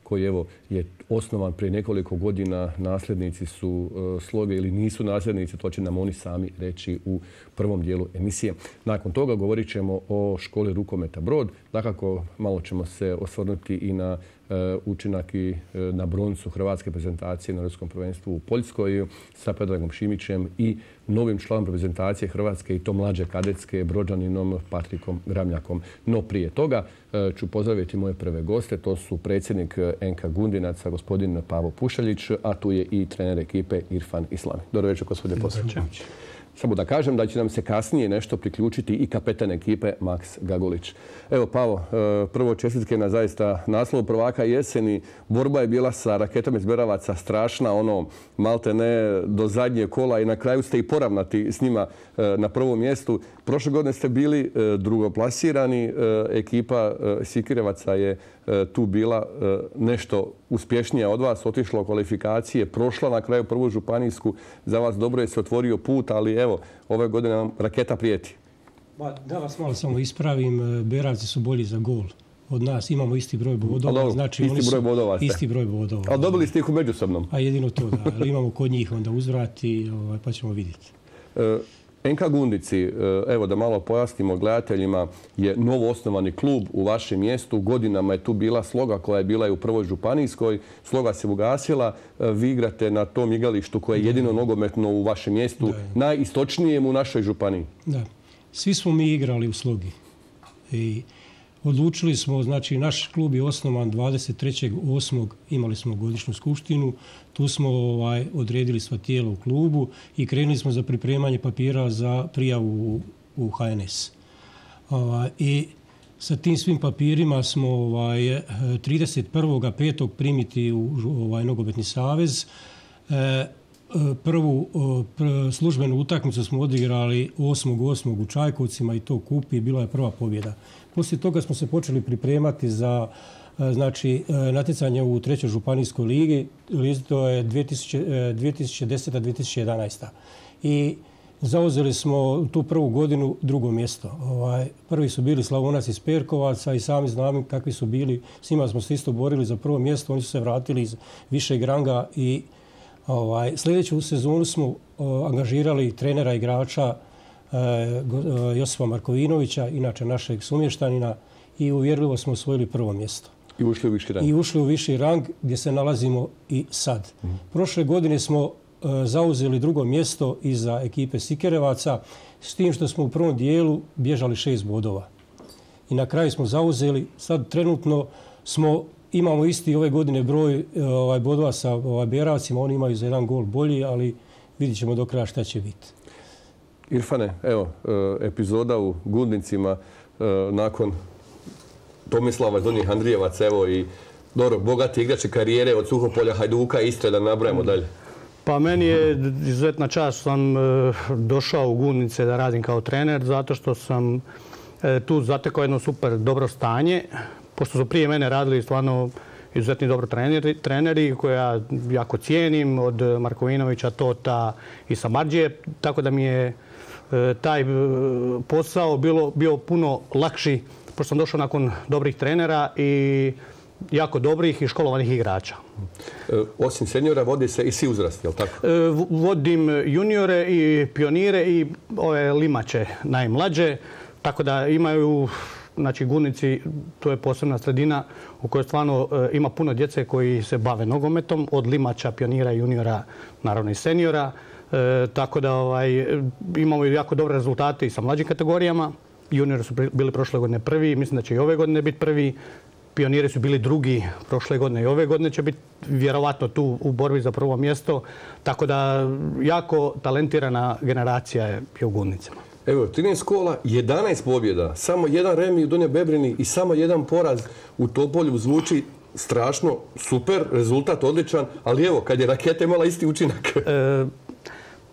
koji evo je osnovan prije nekoliko godina. Nasljednici su Sloge ili nisu nasljednici, to će nam oni sami reći u prvom dijelu emisije. Nakon toga govorit ćemo o školi rukometa Brod. Dakako, malo ćemo se osvrnuti i na učinak i na broncu hrvatske prezentacije na Europskom prvenstvu u Poljskoj sa Predragom Šimićem i novim članom reprezentacije Hrvatske i to mlađe kadetske Brođaninom Patrikom Gramljakom. No prije toga ću pozdraviti moje prve goste. To su predsjednik NK Gundinaca, gospodin Pavo Pušaljić, a tu je i trener ekipe Irfan Islami. Dobro večer, gospodine Pušaljić. Samo da kažem da će nam se kasnije nešto priključiti i kapetan ekipe Maks Gagolić. Evo, Pavo, prvo čestitke na zaista naslovu prvaka jeseni. Borba je bila sa Raketom iz Beravaca strašna, malte ne do zadnje kola i na kraju ste i poravnati s njima na prvom mjestu. Prošle godine ste bili drugoplasirani. Ekipa Sikirevaca je tu bila nešto uspješnija od vas, otišla u kvalifikacije, prošla na kraju prvu županijsku. Za vas dobro je se otvorio put, ali evo, ove godine nam Raketa prijeti. Da vas malo samo ispravim, Beravci su bolji za gol od nas. Imamo isti broj bodova. Znači, isti broj bodova ste. Isti broj bodova. Ali dobili ste ih u međusobnom. A jedino to, da. Ali imamo kod njih onda uzvrati, pa ćemo vidjeti. NK Gundici, evo da malo pojasnimo gledateljima, je novo osnovani klub u vašem mjestu. Godinama je tu bila Sloga koja je bila i u prvoj županijskoj. Sloga se ugasila. Vi igrate na tom igralištu koje je jedino nogometno u vašem mjestu, najistočnijem u našoj županiji. Da. Svi smo mi igrali u Slogi. I odlučili smo, znači naš klub je osnovan 23.8. Imali smo godišnju skupštinu. Tu smo odredili sva tijela u klubu i krenuli smo za pripremanje papira za prijavu u HNS. I sa tim svim papirima smo 31.5. primiti u Nogometni savez. Prvu službenu utakmicu smo odigrali 8.8. u Čajkovcima i to kupi. Bila je prva pobjeda. Poslije toga smo se počeli pripremati za natjecanje u trećoj županijskoj ligi. To je 2010-2011. I zauzeli smo tu prvu godinu drugo mjesto. Prvi su bili Slavonac iz Perkovaca i sami znamo kakvi su bili. S njima smo se isto borili za prvo mjesto. Oni su se vratili iz višeg ranga i sljedeću sezonu smo angažirali trenera igrača Josipa Markovinovića, inače našeg sumještanina, i uvjerljivo smo osvojili prvo mjesto. I ušli u viši rang. I ušli u viši rang gdje se nalazimo i sad. Prošle godine smo zauzeli drugo mjesto iza ekipe Sikerevaca, s tim što smo u prvom dijelu bježali 6 bodova. I na kraju smo zauzeli, sad trenutno imamo isti ove godine broj bodova sa Beravcima, oni imaju za jedan gol bolji, ali vidit ćemo do kraja šta će biti. Irfane, evo, epizoda u Gundincima nakon Tomislava Donjih Andrijevac, evo i dobro, bogati igrači karijere od Suhopolja, Hajduka, Istre, da nabrajamo dalje. Pa meni je izuzetna čast, sam došao u Gundice da radim kao trener, zato što sam tu zatekao jedno super dobro stanje, pošto su prije mene radili stvarno izuzetni dobro treneri koje ja jako cijenim, od Markovinovića, Tota i Samardžije, tako da mi je taj posao bio puno lakši, pošto sam došao nakon dobrih trenera i jako dobrih i školovanih igrača. Osim seniora vodi se i svi uzrasti, je li tako? Vodim juniore i pionire i ove limače najmlađe, tako da imaju, znači Gunici, to je posebna sredina u kojoj stvarno ima puno djece koji se bave nogometom, od limača, pionira, juniora, naravno i seniora. Tako da imamo jako dobre rezultate i sa mlađim kategorijama. Juniori su bili prošle godine prvi, mislim da će i ove godine biti prvi. Pioniri su bili drugi prošle godine i ove godine će biti vjerovatno tu u borbi za prvo mjesto. Tako da jako talentirana generacija je u Gunnicama. Evo, 13 kola, 11 pobjeda, samo jedan remi u Donjoj Bebrini i samo jedan poraz u Topolju zvuči strašno, super, rezultat odličan, ali evo, kad je Raketa imala isti učinak.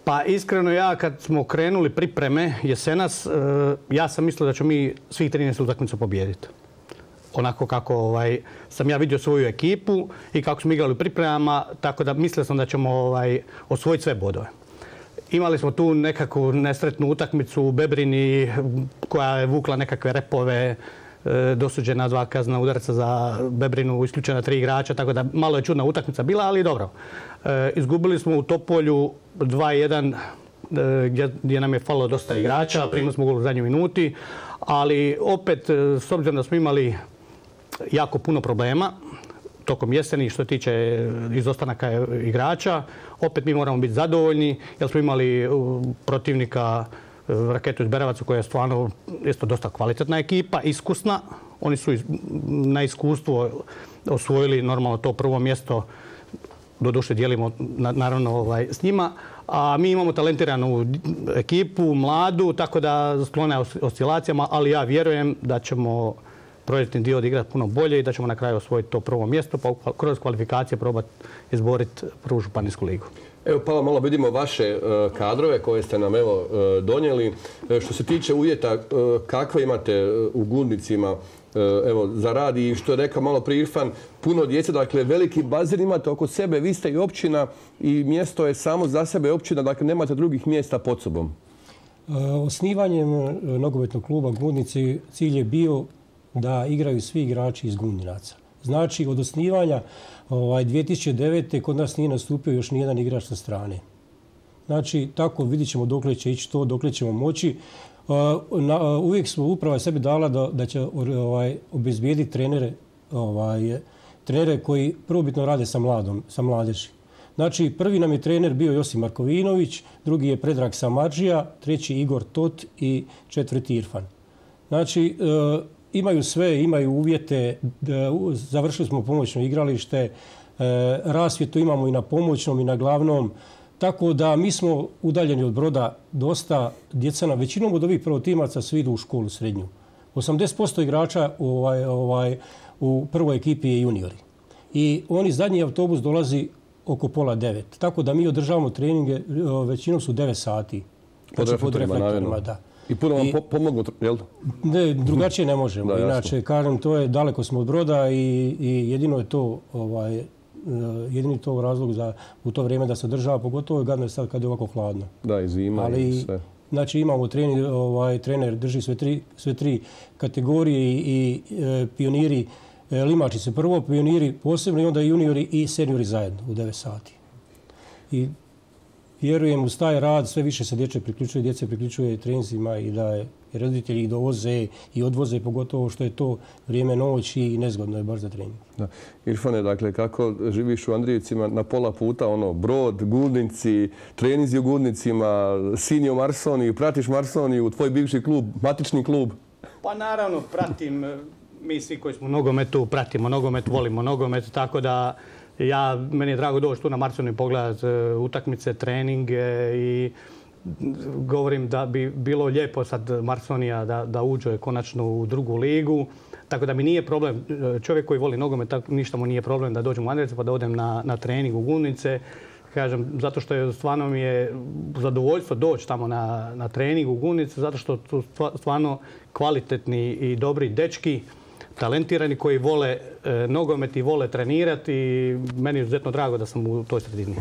Pa iskreno ja kad smo krenuli pripreme jesenas, ja sam mislio da ćemo mi svih 13 utakmica pobijediti. Onako kako sam ja vidio svoju ekipu i kako smo igrali u pripremama, tako da mislio sam da ćemo osvojiti sve bodove. Imali smo tu nekakvu nesretnu utakmicu u Bebrini koja je vukla nekakve repove dosuđena 2 kaznena udarca za Bebrinu, isključena 3 igrača, tako da malo je čudna utakmica bila, ali dobro. Izgubili smo u Topolju 2-1 gdje nam je falilo dosta igrača, primili smo gol u zadnjoj minuti, ali opet s obzirom da smo imali jako puno problema tokom jeseni što se tiče izostanaka igrača, opet mi moramo biti zadovoljni jer smo imali protivnika Raketu iz Beravaca koja je stvarno isto dosta kvalitetna ekipa, iskusna. Oni su na iskustvo osvojili normalno to prvo mjesto, doduše dijelimo naravno s njima, a mi imamo talentiranu ekipu, mladu, tako da sklone oscilacijama, ali ja vjerujem da ćemo projektni dio odigrati puno bolje i da ćemo na kraju osvojiti to prvo mjesto pa kroz kvalifikacije probati izboriti prvu županijsku ligu. Evo pa malo vidimo vaše kadrove koje ste nam donijeli. Što se tiče uvjeta, kakve imate u Gundicima za rad i što je rekao malo prije Irfan, puno djece, dakle veliki bazen imate oko sebe, vi ste i općina i mjesto je samo za sebe općina, dakle nemate drugih mjesta pod sobom. Osnivanjem nogometnog kluba Gundnici cilj je bio da igraju svi igrači iz Gundinaca. Znači, od osnivanja 2009. kod nas nije nastupio još nijedan igrač sa strane. Znači, tako vidit ćemo dokle će ići to, dokle ćemo moći. Uvijek smo uprava sebi dala da će obezbijediti trenere koji prvobitno rade sa mladeži. Znači, prvi nam je trener bio Josip Markovinović, drugi je Predrag Samardžija, treći Igor Tot i četvrti Irfan. Znači, imaju sve, imaju uvjete, završili smo pomoćno igralište, rasvjetu imamo i na pomoćnom i na glavnom, tako da mi smo udaljeni od Broda dosta. Djeca nam većinom od ovih prvotimaca svi idu u školu srednju. 80% igrača u prvoj ekipi je juniori. I oni zadnji autobus dolazi oko 8:30. Tako da mi održavamo treninge, većinom su 9 sati. Pod reflektorima, da. I puno vam pomognu, jel? Ne, drugačije ne možemo. Da, inače, kažem, to je daleko smo od Broda i jedino je to jedini to razlog za u to vrijeme da se održava, pogotovo je gadno sad kad je ovako hladno. Da, i zima i sve. Znači imamo trener drži sve tri kategorije i pioniri, limači se prvo, pioniri posebno i onda juniori i seniori zajedno u 9 sati. I vjerujem uz taj rad sve više se djece priključuje treninzima i da je roditelji ih dovoze i odvoze, pogotovo što je to vrijeme noći i nezgodno je baš za trening. Irfane, dakle, kako živiš u Andrijevcima na pola puta, Brod, Gundinci, treninzi u Gundnicima, sin je u Marsoniji, pratiš Marsoniju, tvoj bivši klub, matični klub? Pa naravno, pratim. Mi svi koji smo u nogometu pratimo nogomet, volimo nogomet, tako da meni je drago doći tu na Marsoniju i pogledati utakmice, treninge i govorim da bi bilo lijepo sad Marsonija da uđe konačno u drugu ligu. Tako da mi nije problem, čovjek koji voli nogomet, ništa mu nije problem da dođem u Andrijevce pa da odem na trening u Gundnice. Kažem, zato što je stvarno mi je zadovoljstvo doći tamo na trening u Gundnice, zato što su stvarno kvalitetni i dobri dečki, talentirani koji vole nogomet i vole trenirati i meni je izuzetno drago da sam u toj sredini.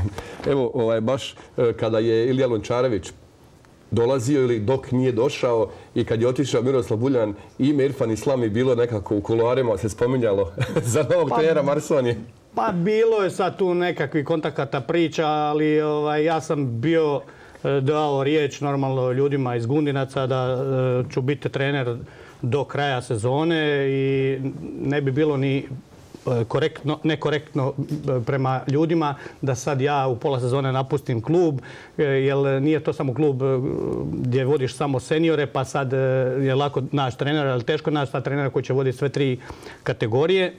Evo, baš kada je Ilija Lončarević dolazio ili dok nije došao i kad je otišao Miroslav Buljan, ime Irfan Islam je bilo nekako u kuloarima se spominjalo za novog trenera Marsonije. Pa bilo je sad tu nekakvih kontakata priča, ali ja sam bio dao riječ normalno ljudima iz Gundinaca da ću biti trener do kraja sezone i ne bi bilo ni nekorektno prema ljudima da sad ja u pola sezone napustim klub, jer nije to samo klub gdje vodiš samo seniore, pa sad je lako naći trenera, ali teško naći trenera koji će voditi sve 3 kategorije.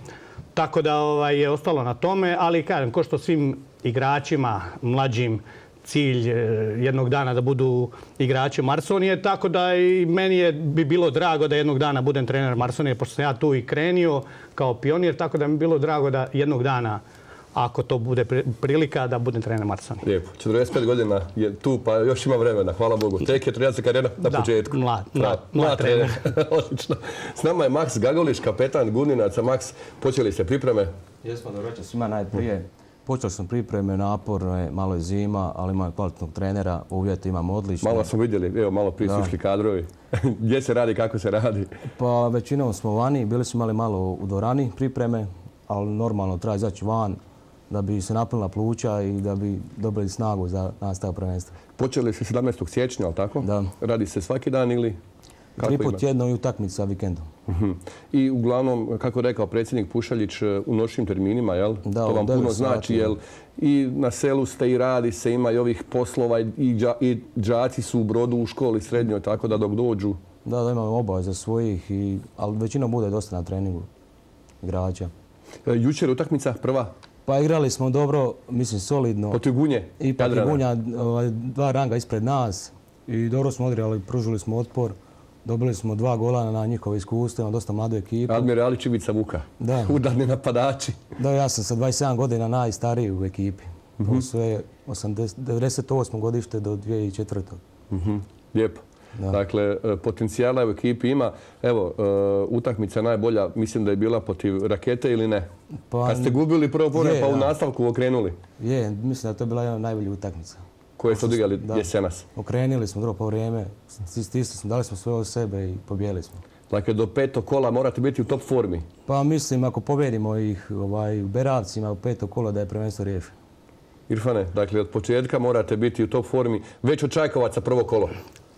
Tako da je ostalo na tome, ali kažem, ko što svim igračima mlađim cilj jednog dana da budu igrači Marsonije, tako da i meni bi bilo drago da jednog dana budem trener Marsonije, pošto sam ja tu i krenio kao pionir, tako da mi bilo drago da jednog dana, ako to bude prilika, da budem trener Marsonije. Lijepo. 45 godina je tu, pa još ima vremena, hvala Bogu. Tek je trenerska karijera na početku. Mlad trener. Odlično. S nama je Maks Gagolić, kapetan Gundinaca. Maks, počeli ste pripreme? Jesmo, dobro večer svima najprije. Počeli smo pripreme, naporne, malo je zima, ali imamo kvalitetnog trenera, uvjeti imamo odlične. Malo smo vidjeli, evo malo prije su išli kadrovi. Gdje se radi, kako se radi? Pa većinom smo vani, bili smo imali malo u dvorani pripreme, ali normalno treba izaći van da bi se napunila pluća i da bi dobili snagu za nastavak prvenstva. Počeli se 17. siječnja, ali tako? Da. Radi se svaki dan ili? 3 put tjedno i utakmica vikendom. I uglavnom, kako je rekao predsjednik Pušaljić, u noćnim terminima, jel? Da, to vam puno znači, jel? I na selu ste i radi se, ima i ovih poslova i đaci su u Brodu u školi srednjoj, tako da dok dođu. Da, imamo obaveza svojih, ali većinom bude dosta na treningu igrača. Jučer utakmica prva? Pa igrali smo dobro, mislim solidno. Protiv Gunje? I protiv Gunja, 2 ranga ispred nas. I dobro smo odigrali, pružili smo otpor. Dobili smo 2 gola na njihove iskustva, dosta mladu ekipu. Admirali Čivica Vuka, udarni napadači. Da, ja sam sa 27 godina najstariji u ekipi. To su 98. godište do 2004. Lijepo. Dakle, potencijala u ekipi ima. Evo, utakmica najbolja, mislim da je bila protiv Rakete ili ne? Kad ste gubili prvo povreme pa u nastavku okrenuli? Je, mislim da je to bila jedna najbolja utakmica. Koje su odigrali jesenas? Okrenili smo drugo povreme, stisli smo, dali smo sve od sebe i pobijeli smo. Dakle, do 5. kola morate biti u top formi? Pa mislim, ako pobjedimo ih u Beravcima u 5. kola da je prvenstvo riješeno. Irfane, dakle, od početka morate biti u top formi. Već od Čajkovaca prvo kolo?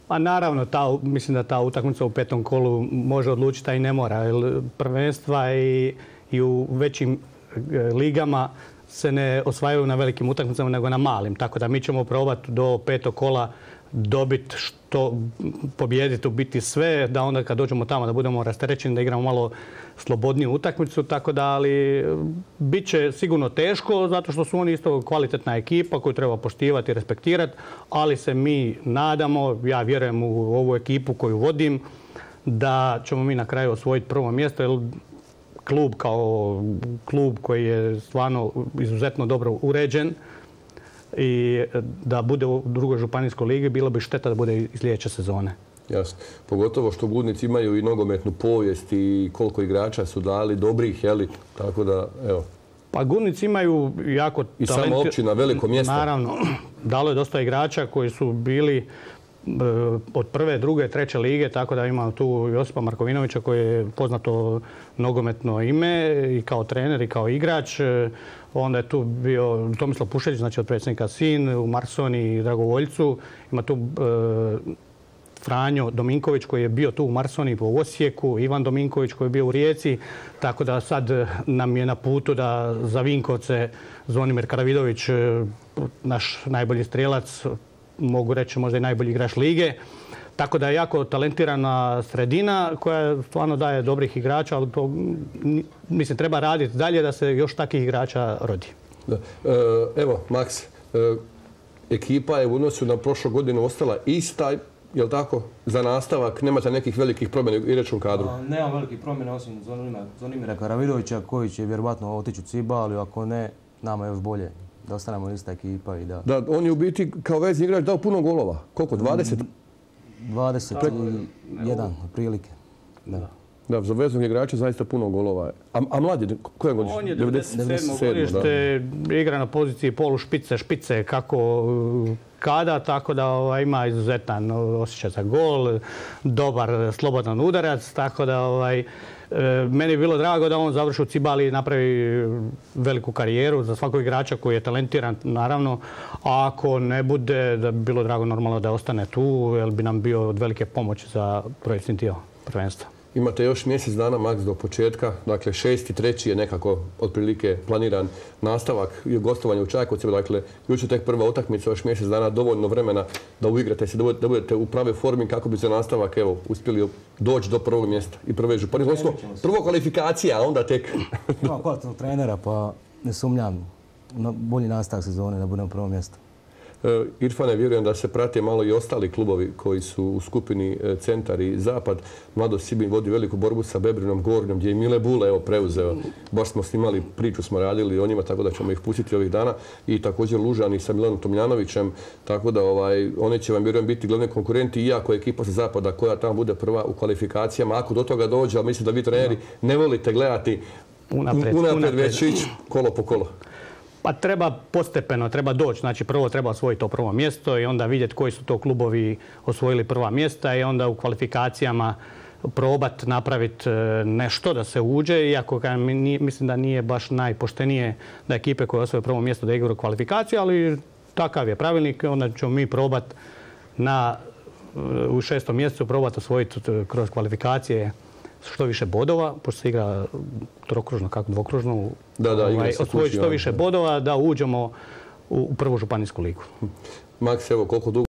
Pa naravno, mislim da ta utakmica u 5. kolu može odlučiti, a i ne mora. Jer prvenstva i u većim ligama se ne osvajaju na velikim utakmicama nego na malim. Tako da mi ćemo probati do 5. kola dobiti pobijediti, ubiti sve, da onda kad dođemo tamo da budemo rasterećeni, da igramo malo slobodniju utakmicu. Tako da, ali bit će sigurno teško, zato što su oni isto kvalitetna ekipa koju treba poštivati i respektirati, ali se mi nadamo, ja vjerujem u ovu ekipu koju vodim, da ćemo mi na kraju osvojiti prvo mjesto, jer klub kao klub koji je stvarno izuzetno dobro uređen i da bude u drugoj županijskoj ligi, bilo bi šteta da bude iz sljedeće sezone. Jasno. Pogotovo što Budnici imaju i nogometnu povijest i koliko igrača su dali dobrih, jeli? Tako da, evo. Pa Gudnici imaju jako talent. I sama općina, veliko mjesto. Naravno, dalo je dosta igrača koji su bili od 1., 2., 3. lige, tako da ima tu Josipa Markovinovića koji je poznato nogometno ime i kao trener i kao igrač. Onda je tu bio Tomislav Pušeljić, znači od predsjednika sin, u Marsoni i Dragovoljcu. Ima tu Franjo Dominković koji je bio tu u Marsoni u Osijeku, Ivan Dominković koji je bio u Rijeci, tako da sad nam je na putu da za Vinkovce Zvonimir Karavidović, naš najbolji strijelac, mogu reći možda i najbolji igrač lige. Tako da je jako talentirana sredina koja stvarno daje dobrih igrača, ali to, mislim, treba raditi dalje da se još takvih igrača rodi. Da. Evo, Maks, ekipa je u odnosu na prošlu godinu ostala ista, je li tako? Za nastavak nemate nekih velikih promjena u igračkom kadru? Nema velikih promjena osim Zvonimira Karavidovića koji će vjerovatno otići u Ciba, ali ako ne, nama je još bolje da ostanemo ista ekipa i da... Da, on je u biti kao vezni igrač dao puno golova. Koliko? 20? 21, otprilike. Da, za veznog igrača zaista puno golova. A mladi, koje godište? On je 97. godište, igra na poziciji polu špice, kako kada, tako da ima izuzetan osjećaj za gol, dobar slobodan udarac, tako da meni je bilo drago da on završi u Cibali i napravi veliku karijeru za svakog igrača koji je talentiran, naravno. A ako ne bude, da bi bilo drago normalno da ostane tu, jer bi nam bio od velike pomoći za projektni dio prvenstva. Imate još mjesec dana, Maks, do početka. Dakle, 6.3. je nekako otprilike planiran nastavak i gostovanje u Čajkovcima. Dakle, jučer tek prva utakmica, još mjesec dana, dovoljno vremena da uigrate se, da budete u prave formi kako bi se nastavak, evo, uspjeli doći do prvog mjesta i prve županije. Prvo kvalifikacija, a onda tek... Imamo kvalitetnog trenera, pa ne sumnjam na bolji nastavak sezone da budemo u prvom mjestu. Irfane, vjerujem da se prate malo i ostali klubovi koji su u skupini Centar i Zapad. Mladost Sibinj vodi veliku borbu sa Bebrinom Gornjom, gdje je Mile Bule preuzeo. Baš smo snimali priču, smo radili o njima, tako da ćemo ih pustiti ovih dana. I također Lužani sa Milanom Tomljanovićem, tako da oni će vam, vjerujem, biti glavni konkurenti, iako je ekipa sa Zapada koja tamo bude prva u kvalifikacijama. Ako do toga dođe, ali mislim da vi treneri ne volite gledati unaprijed već ići kolo po kolo. Pa treba postepeno, treba doći. Znači prvo treba osvojiti to prvo mjesto i onda vidjeti koji su to klubovi osvojili prva mjesta i onda u kvalifikacijama probati napraviti nešto da se uđe, iako mislim da nije baš najpoštenije da ekipe koje osvoje prvo mjesto da igraju kvalifikaciju, ali takav je pravilnik, onda ćemo mi probati u 6. mjesecu probati osvojiti kroz kvalifikacije što više bodova, pošto se igra trokružno, kako dvokružno, osvojiti što više bodova da uđemo u prvu županijsku ligu. Maks, evo koliko dugo